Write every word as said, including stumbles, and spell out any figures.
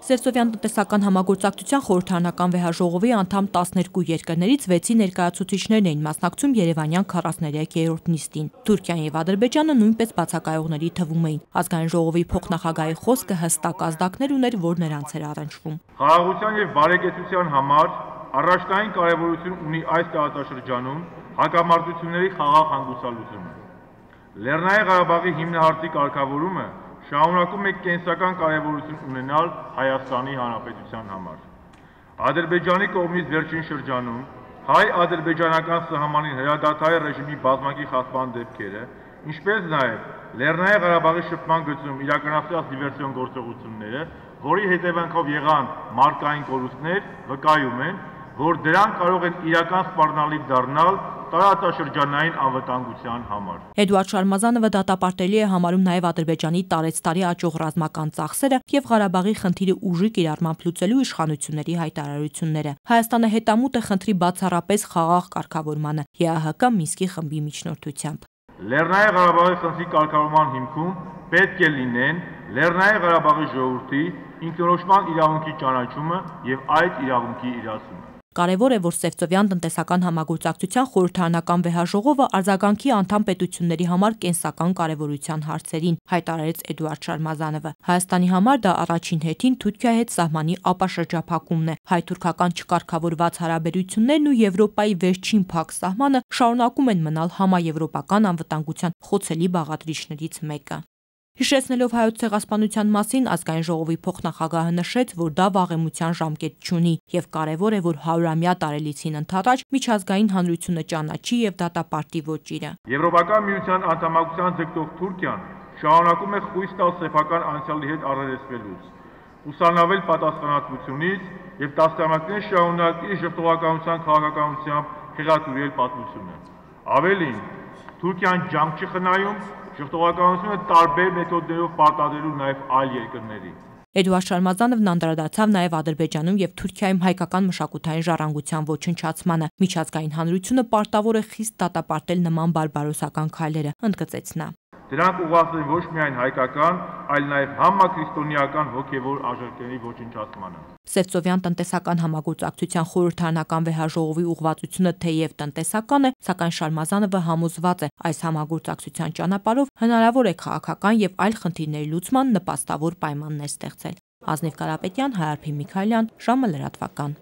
Սևծովյան տնտեսական համագործակցության խորհրդարանական վեհաժողովի անդամ տասներկու երկրներից վեցի ներկայացուցիչներն էին մասնակցում Երևանյան քառասներեքերորդ նիստին։ Թուրքիան եւ Ադրբեջանը նույնպես բացակայողների թվում էին։ Ազգային ժողովի փոխնախագահի խոսքը հստակ ազդակներ ուներ, որ նրանց էր առնչվում։ Խաղաղության եւ բարեկեցության համար առաջնային կարեւորություն ունի այս տարածաշրջանում հակամարտությունների խաղաղ հանգուցալուծումը։ Լեռնային Ղարաբաղի հիմնահարցի կարգավորումը շարունակում է կենսական կարևորություն ունենալ Հայաստանի Հանրապետության համար։ Ադրբեջանի կողմից վերջին շրջանում հայ-ադրբեջանական սահմանին հրադադարի ռեժիմի բազմակի խախտման դեպքերը, ինչպես նաև Լեռնային Ղարաբաղի շփման գծում իրականացված դիվերսիոն գործողությունները, որի հետևանքով եղան մարտկային կորուստներ, վկայում են, որ դրանք կարող են իրական սպառնալիք դառնալ տարածաշրջանային անվտանգության համար։ Էդուարդ Շարմազանովը դատապարտելի է համարում նաև Ադրբեջանի տարեցտարի աճող ռազմական ծախսերը եւ Ղարաբաղի խնդիրը ուժի կիրառմամբ լուծելու իշխանությունների հայտարարությունները։ Հայաստանը հետամուտ է խնդրի բացառապես խաղաղ կարգավորմանը Է Ա Հ Կ Մինսկի խմբի միջնորդությամբ։ Լեռնային Ղարաբաղի խնդրի կարգավորման հիմքում պետք է լինեն Լեռնային Ղարաբաղի ժողովրդի ինքնորոշման իրավունքի ճանաչումը եւ այդ իրավունքի իրացումը։ Կարևոր է, որ Սևծովյան տնտեսական համագործակցության խորհրդարանական վեհաժողովը արձագանքի անդամ պետությունների համար կենսական կարևորության հարցերին, հայտարարեց Էդուարդ Շարմազանովը։ Հայաստանի համար դա առաջին հերթին Թուրքիայի հետ սահմանի ապաշրջափակումն է։ Հայ-թուրքական չկարգավորված հարաբերություններն ու Եվրոպայի վերջին փակ սահմանը շարունակում են մնալ համաեվրոպական անվտանգության խոցելի բաղադրիչներից մեկը։ Հիշեցնելով Հայոց ցեղասպանության մասին, ազգային ժողովի փոխնախագահը նշեց, որ դա վաղեմության ժամկետ չունի եւ կարեւոր է, որ հարյուրամյա տարելիցին ընդառաջ միջազգային հանրությունը ճանաչի եւ դատապարտի ոճիրը։ Եվրոպական միության անդամակցության ձգտող Թուրքիան շարունակում է խույս տալ սեփական անցյալի հետ առերեսվելուց, ուսանավել պատասխանատվությունից եւ տասնամյակներ շարունակ իր ժողովրդականության քաղաքականությամբ խեղաթյուրել պատմությունը։ Ավելին, Թուրքիան ջանք չի խնայում ժողովրդականությունը տարբեր մեթոդներով պարտադրելու նաև այլ երկրների։ Էդուարդ Շարմազանովն անդրադարձավ նաև Ադրբեջանում եւ Թուրքիայում հայկական մշակութային ժառանգության ոչնչացմանը։ Միջազգային հանրությունը պարտավոր է խիստ դատապարտել նման բարբարոսական քայլերը, ընդգծեց նա։ Դրանք ուղղված են ոչ միայն հայկական, այլ նաև համակրիստոնեական հոգևոր արժեքների ոչնչացմանը։ Սևծովյան տնտեսական համագործակցության խորհրդարանական վեհաժողովի ուղղվածությունը թեև տնտեսական է, սակայն Շարմազանովը համոզված է, այս համագործակցության ճանապարհով հնարավոր է քաղաքական եւ այլ խնդիրների լուծման նպաստավոր պայմաններ ստեղծել։ Ազնիվ Կարապետյան, Հայ Արփին Միքայելյան, ժամը լրատվական։